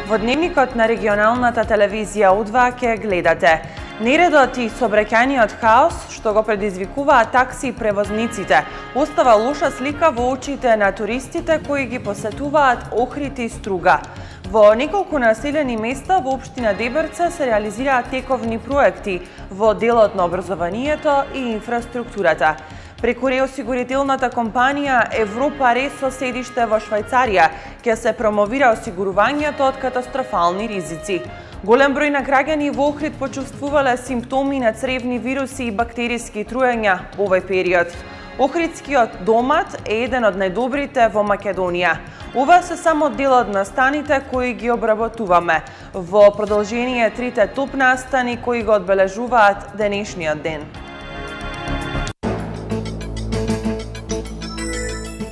Во дневникот на регионалната телевизија У2 ќе гледате нередот и сообраќајниот хаос што го предизвикуваат такси превозниците, остава лоша слика во очите на туристите кои ги посетуваат Охрид и Струга. Во неколку населени места во општина Дебрца се реализираат тековни проекти во делот на образованието и инфраструктурата. Преку реосигурителната компанија Европа Ре со седиште во Швајцарија ќе се промовира осигурувањето од катастрофални ризици. Голем број на граѓани во Охрид почувствувале симптоми на цревни вируси и бактериски труења во овој период. Охридскиот домат е еден од најдобрите во Македонија. Ова се само делот на станите кои ги обработуваме. Во продолжение трите топ настани кои го одбележуваат денешниот ден.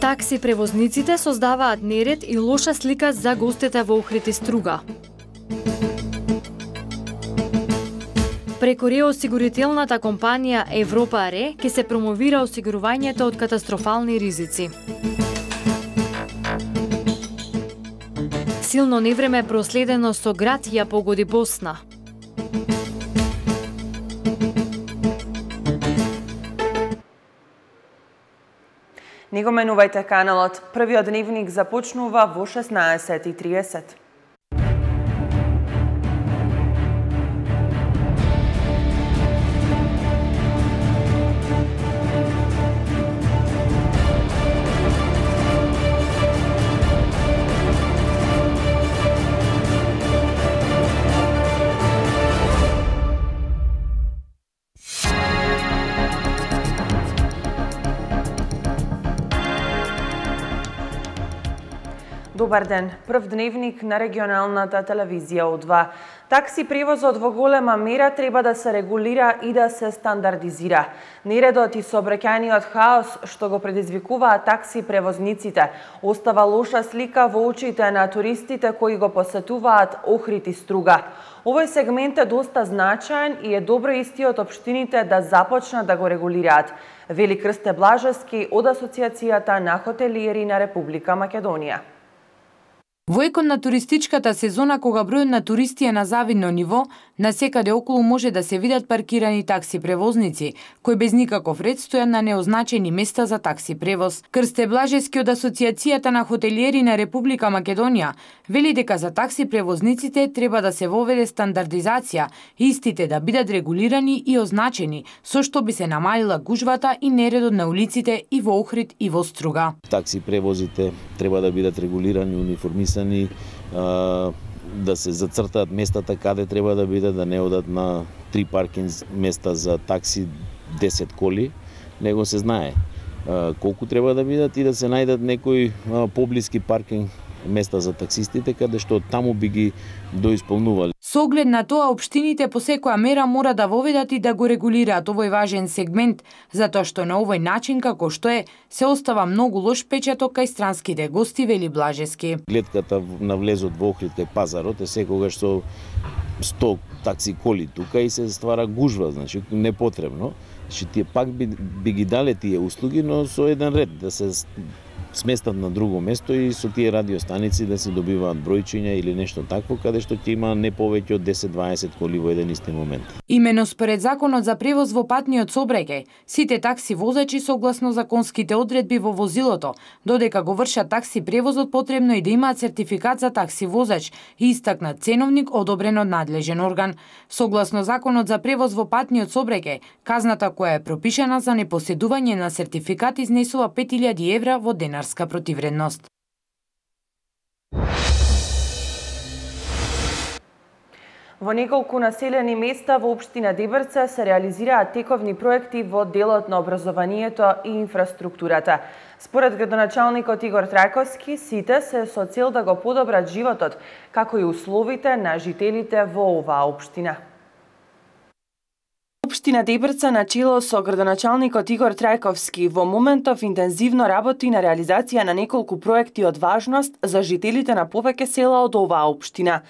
Такси превозниците создаваат неред и лоша слика за гостите во Охрид и Струга. Преку реосигурителната компанија Европа Ре ќе се промовира осигурувањето од катастрофални ризици. Силно невреме проследено со град ја погоди Босна. Не го менувајте каналот. Првиот дневник започнува во 16:30. Добар ден. Прв дневник на регионалната телевизија У2. Такси превозот во голема мера треба да се регулира и да се стандардизира. Нередот и сообраќајниот хаос што го предизвикуваат такси превозниците остава лоша слика во очите на туристите кои го посетуваат Охрид и Струга. Овој сегмент е доста значаен и е добро истиот општините да започнат да го регулираат, вели Крсте Блажевски од Асоциацијата на хотелиери на Република Македонија. Во екот на туристичката сезона, кога бројот на туристи е на завидно ниво, насекаде околу може да се видат паркирани такси превозници, кои без никаков ред стојат на неозначени места за такси превоз. Крсте Блажевски од Асоциацијата на хотелиери на Република Македонија вели дека за такси превозниците треба да се воведе стандардизација, истите да бидат регулирани и означени, со што би се намалила гужвата и нередот на улиците и во Охрид и во Струга. Такси превозите треба да бидат регулирани, униформисани, да се зацртаат местата каде треба да бидат, да не одат на 3 паркинг места за такси 10 коли, него се знае колку треба да бидат и да се најдат некои поблиски паркинг места за таксистите, каде што таму би ги доисполнували. Со оглед на тоа, општините по секоја мера мора да воведат и да го регулираат овој важен сегмент, затоа што на овој начин, како што е, се остава многу лош печаток кај странските гости, вели Блажевски. Гледката на влезот во Охрид кај пазарот е секогаш со 100 такси коли тука и се ствара гужва, значи непотребно. Значи тие пак би ги дале тие услуги, но со еден ред да се сместат на друго место и со тие радиостаници да се добиваат бројчиња или нешто такво, каде што ќе има не повеќе од 10-20 коли во еден исти момент. Имено според Законот за превоз во патниот сообраќај, сите такси возачи согласно законските одредби во возилото, додека го вршат такси превозот, потребно и да имаат сертификат за такси возач и истакнат ценовник одобрен од надлежен орган. Согласно Законот за превоз во патниот сообраќај, казната која е пропишана за непоседување на сертификат изнесува 5000 евра во денар противредност. Во неколку населени места во општина Дебрца се реализираат тековни проекти во делот на образованието и инфраструктурата. Според градоначалникот Игор Трајковски, сите се со цел да го подобрат животот, како и условите на жителите во оваа општина. Општина Дебрца на чело со градоначалникот Игор Трајковски во моментов интензивно работи на реализација на неколку проекти од важност за жителите на повеќе села од оваа општина.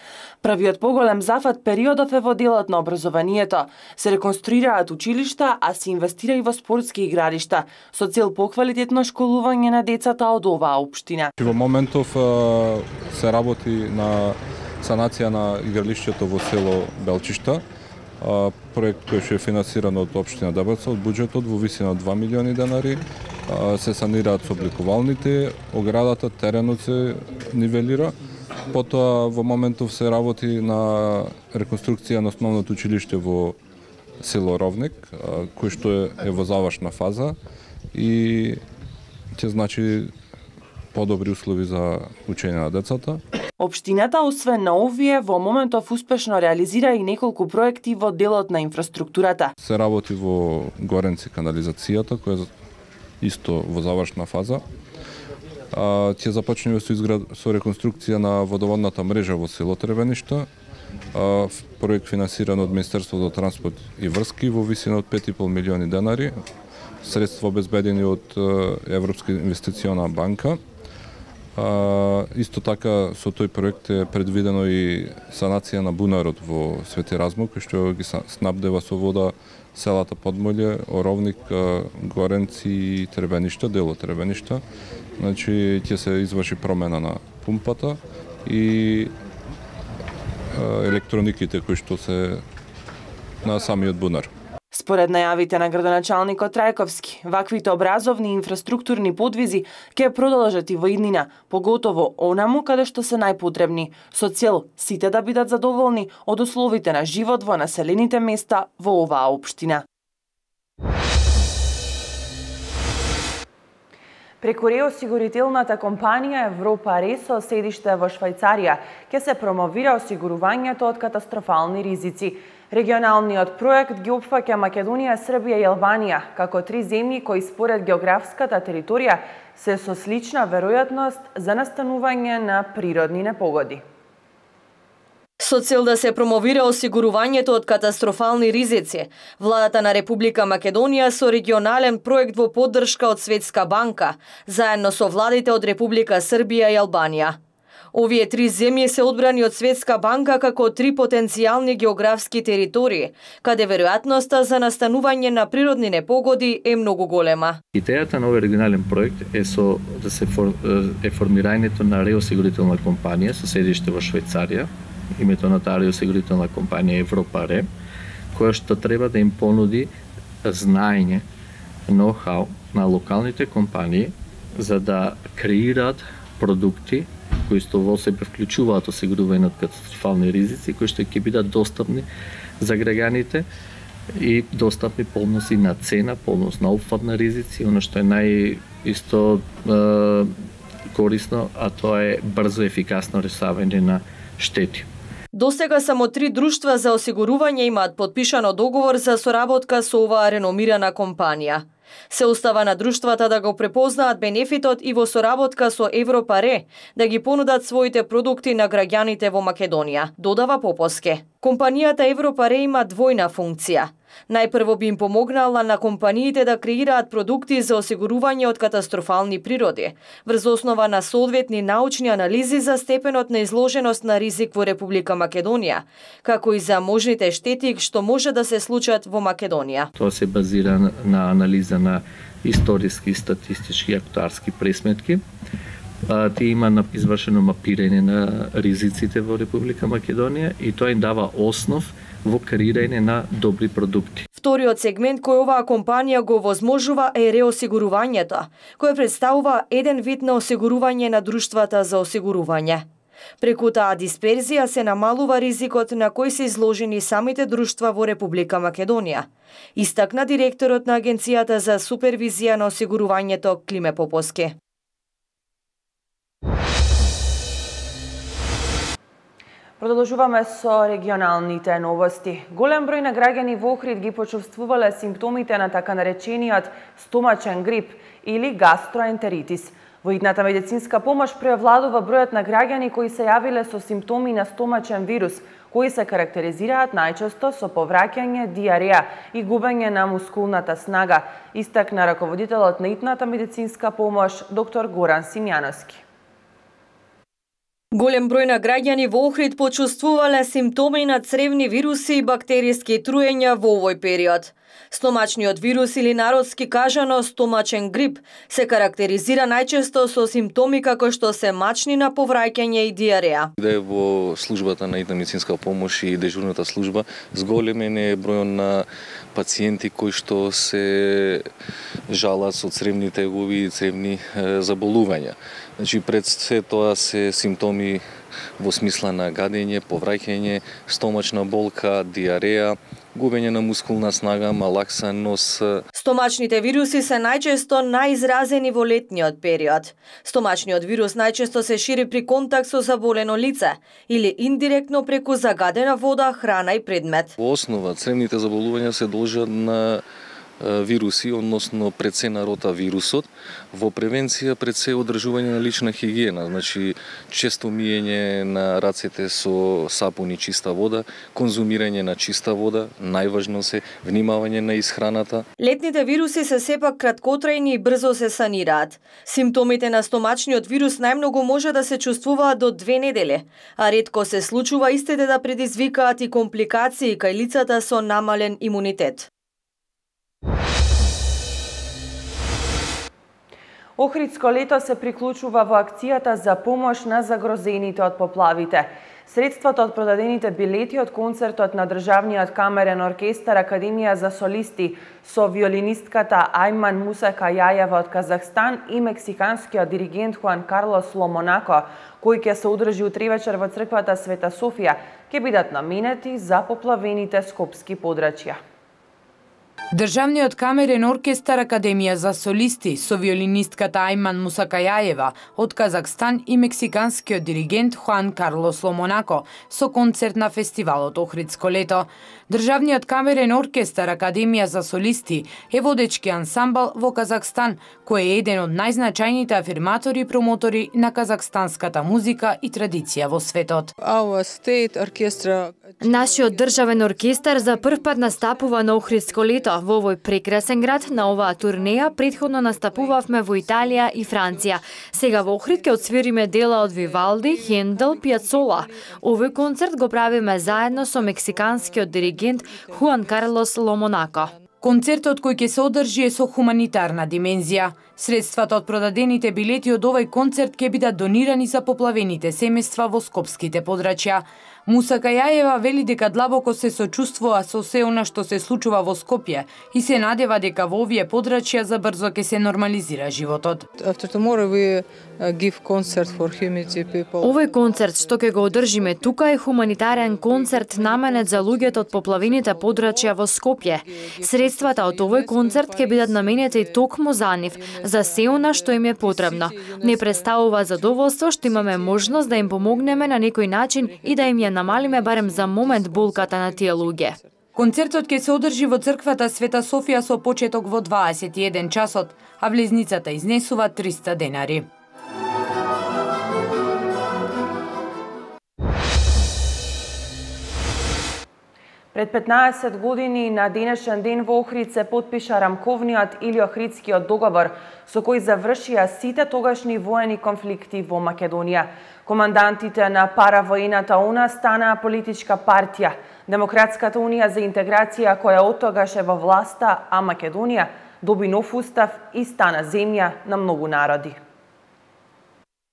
Првиот поголем зафат периодов е во делот на образованието. Се реконструираат училишта, а се инвестира и во спортски игралишта, со цел поквалитетно школување на децата од оваа општина. Во моментов се работи на санација на игралишќето во село Белчишта, проект кој што е финансиран од општина Дебрца од буџетот во висина од 2 милиони денари. Се санираат собликувалните, оградата, теренот се нивелира. Потоа во моментов се работи на реконструкција на основното училиште во село Ровник, кој што е во завршна фаза и ќе значи подобри услови за учење на децата. Општината, освен на овие, во моментов успешно реализира и неколку проекти во делот на инфраструктурата. Се работи во Горенци канализацијата, која е исто во завршна фаза. Ќе започнеме со реконструкција на водоводната мрежа во село Требеништа, проект финансиран од Министерството за транспорт и врски во висина од 5,5 милиони денари, средства обезбедени од Европска инвестициона банка. Исто така со тој проект е предвидено и санација на бунарот во Свети Размов, кој што ги снабдева со вода селата Подмолје, Оровник, Горенци и Требеништа, дело Требеништа. Значи ќе се изврши промена на пумпата и електрониките кои што се на самиот бунар. Според најавите на градоначалникот Трајковски, ваквите образовни и инфраструктурни подвизи ќе продолжат и во иднина, поготово онаму каде што се најпотребни, со цел сите да бидат задоволни од условите на живот во населените места во оваа општина. Преку реосигурителната компанија Европа РЕ со седиште во Швајцарија ќе се промовира осигурувањето од катастрофални ризици. Регионалниот проект ги опфаќа Македонија, Србија и Албанија, како три земји кои според географската територија се со слична веројатност за настанување на природни непогоди. Со цел да се промовира осигурувањето од катастрофални ризици, владата на Република Македонија со регионален проект во поддршка од Светска банка, заедно со владите од Република Србија и Албанија. Овие три земји се одбрани од Светска банка како три потенцијални географски територии, каде веројатноста за настанување на природни непогоди е многу голема. Идејата на овој регионален проект е формирањето на реосигурителна компанија со седиште во Швајцарија. Името на таа реосигурителна компанија Европа РЕ, која што треба да им понуди знаење, ноу-хау на локалните компании за да креираат продукти кои што во себе вклучуваат осигурување од катастрофални ризици, кои што ќе бидат достапни за граѓаните и достапни полност и на цена, полност на опфат на ризици, оно што е корисно, а тоа е брзо и ефикасно решавање на штети. Досега само 3 друштва за осигурување имаат подпишано договор за соработка со оваа реномирана компанија. Се остава на друштвата да го препознаат бенефитот и во соработка со Европа РЕ да ги понудат своите продукти на граѓаните во Македонија, додава Поповски. Компанијата Европа РЕ има двојна функција. Најпрво би им помогнала на компаниите да креираат продукти за осигурување од катастрофални природи, врз основа на соодветни научни анализи за степенот на изложеност на ризик во Република Македонија, како и за можните штети што може да се случат во Македонија. Тоа се базира на анализа на историски, статистички и актуарски пресметки. Тие има извршено мапирање на ризиците во Република Македонија и тоа им дава основ во креирање на добри продукти. Вториот сегмент кој оваа компанија го возможува е реосигурувањето, кој представува еден вид на осигурување на друштвата за осигурување. Преку таа дисперзија се намалува ризикот на кој се изложени самите друштва во Република Македонија, истакна директорот на Агенцијата за супервизија на осигурувањето Климе Поповски. Продолжуваме со регионалните новости. Голем број на граѓани во Охрид ги почувствувале симптомите на така наречениот стомачен грип или гастроентеритис. Во идната медицинска помош преовладува бројот на граѓани кои се јавиле со симптоми на стомачен вирус, кои се карактеризираат најчесто со повраќање, диареја и губење на мускулната снага, истакна раководителот на идната медицинска помош доктор Горан Симјановски. Голем број на граѓани во Охрид почувствувале симптоми на цревни вируси и бактериски труења во овој период. Стомачниот вирус или народски кажано стомачен грип се карактеризира најчесто со симптоми како што се мачнина, повраќање и диареја. Да е во службата на hitna медицинска помош и дежурната служба зголемен е бројот на пациенти кои што се жалат со цревни тегови и цревни заболувања. Значи пред се тоа се симптоми во смисла на гадење, повраќање, стомачна болка, диареја, губење на мускулна снага, малаксан нос. Стомачните вируси се најчесто најизразени во летниот период. Стомачниот вирус најчесто се шири при контакт со заболено лице или индиректно преку загадена вода, храна и предмет. Во основа, цревните заболувања се должат на вируси, односно пред се на ротавирусот. Во превенција пред се одржување на лична хигиена, значи често миење на рацете со сапун и чиста вода, конзумирање на чиста вода, најважно се внимавање на исхраната. Летните вируси се сепак краткотрајни и брзо се санираат. Симптомите на стомачниот вирус најмногу може да се чувствуваат до 2 недели, а ретко се случува истите да предизвикаат и компликации кај лицата со намален имунитет. Охридско лето се приклучува во акцијата за помош на загрозените од поплавите. Средствата од продадените билети од концертот на Државниот камерен оркестар Академија за солисти со виолинистката Айман Мусакајаева од Казахстан и мексиканскиот диригент Хуан Карлос Ломонако, кој ќе се одржи утре вечер во црквата Света Софија, ќе бидат наменети за поплавените скопски подрачја. Државниот камерен оркестар Академија за солисти со виолинистката Айман Мусакајаева од Казахстан и мексиканскиот диригент Хуан Карлос Ломонако со концерт на фестивалот Охридско лето. Државниот камерен оркестар Академија за солисти е водечки ансамбл во Казахстан, кој е еден од најзначајните афирматори и промотори на казахстанската музика и традиција во светот. Нашиот државен оркестар за прв пат настапува на Охридско лето во овој прекрасен град. На оваа турнеја претходно настапувавме во Италија и Франција. Сега во Охрид ќе отсвириме дела од Вивалди, Хендел, Пиацола. Овој концерт го правиме заедно со мексиканскиот диригент Хуан Карлос Ломонако. Концертот кој ќе се одржи е со хуманитарна димензија. Средствата од продадените билети од овој концерт ќе бидат донирани за поплавените семејства во скопските подрачја. Мусакајаева вели дека длабоко се сочувствува со се она што се случува во Скопје и се надева дека во овие подрачја забрзо ќе се нормализира животот. Овој концерт што ќе го одржиме тука е хуманитарен концерт наменет за луѓето од поплавените подрачја во Скопје. Средствата од овој концерт ќе бидат наменети токму за нив, за се она што им е потребно. Не представува задоволство што имаме можност да им помогнеме на некој начин и да им ја намалиме барем за момент болката на тие луѓе. Концертот ќе се одржи во црквата Света Софија со почеток во 21 часот, а влезницата изнесува 300 денари. Пред 15 години на денешен ден во Охрид се потпиша рамковниот или Охридскиот договор, со кој завршија сите тогашни воени конфликти во Македонија. Командантите на паравоената УНА станаа политичка партија, Демократската унија за интеграција, која оттогаш е во власта, а Македонија доби нов устав и стана земја на многу народи.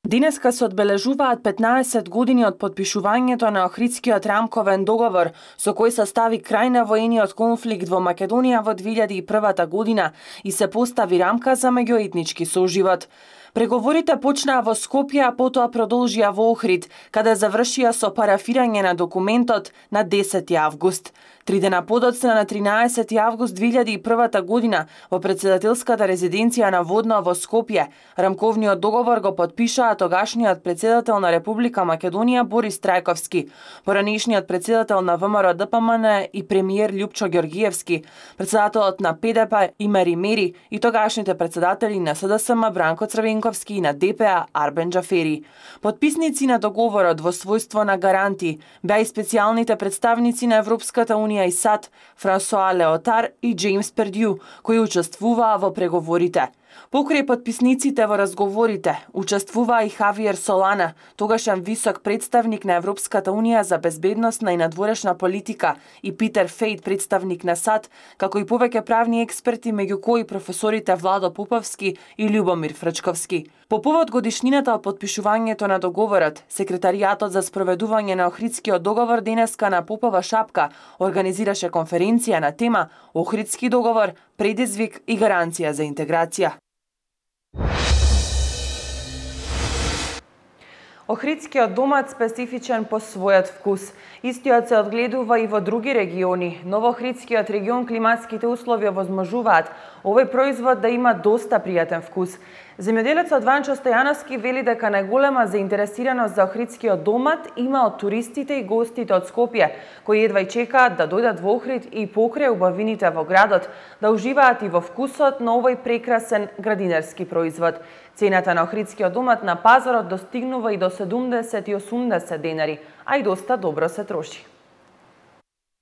Денеска се одбележуваат 15 години од подпишувањето на Охридскиот рамковен договор, со кој се стави крај на воениот конфликт во Македонија во 2001 година и се постави рамка за меѓуетнички соживот. Преговорите почнаа во Скопје, а потоа продолжија во Охрид, каде завршија со парафирање на документот на 10 август. 3 дена подоцна на 13 август 2001 година во председателската резиденција на Водно во Скопје, рамковниот договор го подпишаа тогашниот председател на Република Македонија Борис Трајковски, поранешниот председател на ВМРО ДПМН и премиер Љупчо Ѓоргиевски, председателот на ПДП Имери Мери и тогашните председатели на СДСМ Бранко Црвенковски и на ДПА Арбен Џафери. Подписници на договорот во својство на гаранти беа и специјалните представници на Европската унија и САД, Франсоа Леотар и Джеймс Пердју, кои учествуваа во преговорите. Покрај потписниците во разговорите, учествуваа и Хавиер Солана, тогашен висок представник на Европската Унија за безбедносна и надворешна политика, и Питер Фейт, представник на САД, како и повеќе правни експерти, меѓу кои професорите Владо Поповски и Љубомир Фрчковски. По повод годишнината од потпишувањето на договорот, секретаријатот за спроведување на Охридскиот договор денеска на Попова шапка организираше конференција на тема Охридски договор, предизвик и гаранција за интеграција. Охридскиот домат специфичен по својот вкус. Истиот се одгледува и во други региони, но во Охридскиот регион климатските услови овозможуваат овој производ да има доста пријатен вкус. Земјоделецот Ванчо Стојановски вели дека најголема заинтересираност за Охридскиот домат има од туристите и гостите од Скопје, кои едва и чекаат да дојдат во Охрид и покрај убавините во градот, да уживаат и во вкусот на овој прекрасен градинарски производ. Цената на Охридскиот домат на пазарот достигнува и до 70 и 80 денари, а и доста добро се троши.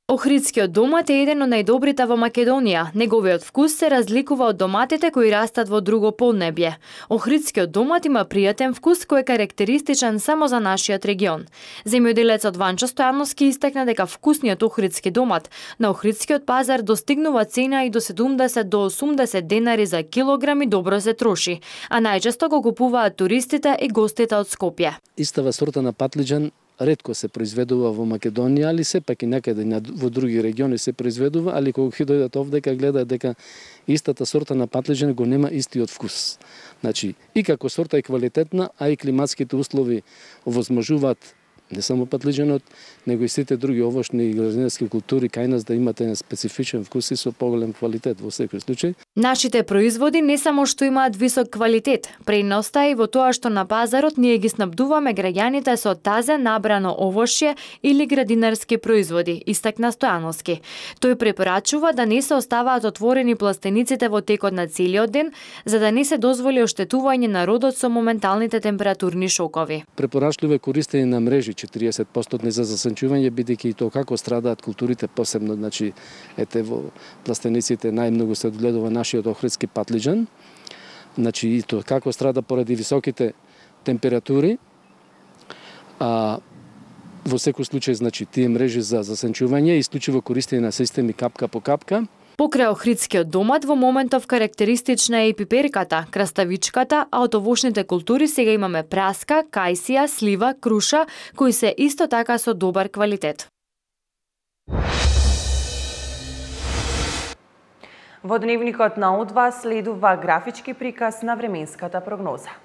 Охридскиот домат е еден од најдобрите во Македонија. Неговиот вкус се разликува од доматите кои растат во друго поднебје. Охридскиот домат има пријатен вкус кој е карактеристичен само за нашиот регион. Земјоделецот Ванчо Стојановски истакна дека вкусниот охридски домат на охридскиот пазар достигнува цена и до 70 до 80 денари за килограм и добро се троши, а најчесто го купуваат туристите и гостите од Скопје. Истава сорта на патлиџан ретко се произведува во Македонија, али сепак и некаде во други региони се произведува, али кога ќе дојдат овдека гледаат дека истата сорта на патлиџан го нема истиот вкус. Значи, и како сорта е квалитетна, а и климатските услови овозможуваат не само патлиџанот, него и сите други овошни и градинарски култури кај нас да имате еден специфичен вкус и со поголем квалитет во секој случај. Нашите производи не само што имаат висок квалитет, предноста е и во тоа што на пазарот ние ги снабдуваме граѓаните со тазе набрано овошје или градинарски производи, истакна Стојановски. Тој препорачува да не се оставаат отворени пластениците во текот на целиот ден, за да не се дозволи оштетување на родот со моменталните температурни шокови. Препорачливо е користење на мрежи 40% за засанчување, бидејќи и тоа како страдаат културите посебно, значи ете во пластениците најмногу се одгледува нашиот охридски патлиџан. Значи и тоа како страда поради високите температури. А во секој случај значи тие мрежи за засанчување и исклучиво користење на системи капка по капка. Покрај охридскиот домат во моментов карактеристична е и пиперката, краставичката, а од овошните култури сега имаме праска, кајсија, слива, круша, кои се исто така со добар квалитет. Во дневникот на О2 следува графички приказ на временската прогноза.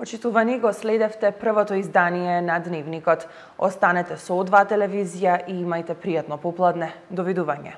Почитувани, го следевте првото издание на Дневникот. Останете со О2 телевизија и имајте пријатно попладне. Довидување.